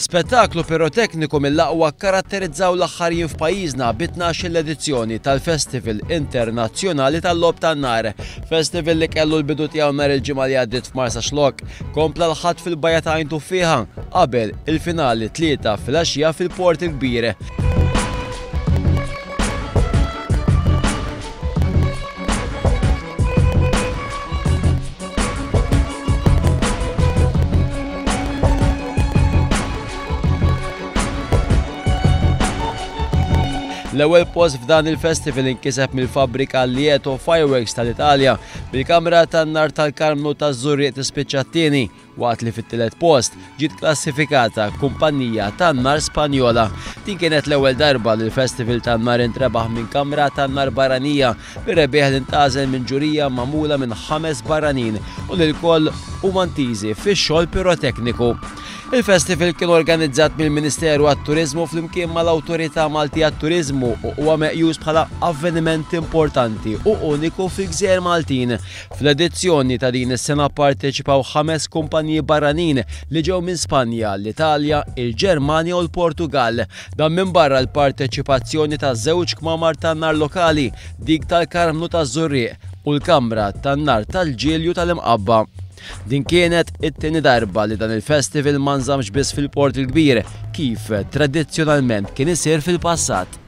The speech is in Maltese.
Spettaklu pirotekniku mill-aqwa kkaratterizzaw l-aħħar jiem f'pajjiżna bi 12-il edizzjoni tal-Festival Internazzjonali tal-Logħob tan-Nar. Festival li kellu l-bidu tiegħu nhar il-Ġimgħa li għaddiet f'Marsaxlokk, kompla l-Ħadd fil-Bajja ta' Għajn Tuffieħa qabel il-finali t-Tlieta filgħaxija fil-Port il-Kbir. L-ewwel post f'dan il-festival inkiseb mill-fabbrika Lieto Fireworks tal-Italja, bil-kamra tan-nar tal-Karmnu taż-Żurrieq tispiċċa t-tieni. Waqt li fit-tielet post ġiet klassifikata kumpanija tan-nar Spanjola. Din kienet l-ewwel darba li l-Festival tan-Nar intrebaħ minn kamra tan-nar barranija, bir-rebbieħ li ntgħażel minn ġurija magħmula minn ħames barranin u li lkoll huma ntiżi fix-xogħol pirotekniku. Il-festival kien organizzat mill-Ministeru għat-Turiżmu flimkien mal-Awtorità Maltija għat-Turiżmu u huwa meqjus bħala avveniment importanti u uniku fil-gżejjer Maltin. Fl-edizzjoni ta' din is-sena pparteċipaw ħames kumpaniji barranin li ġew minn Spanja, l-Italja, il-Ġermanja u l-Portugall. Dan minbarra l-parteċipazzjoni ta' żewġ kmamar tan-nar lokali, dik tal-Karmnu taż-Żurrieq u l-Kamra tan-Nar tal-Ġilju tal-Imqabba. Din kienet it-tieni darba li dan il-festival ma nżammx biss fil-Port il-Kbir, kif tradizzjonalment kien isir fil-passat.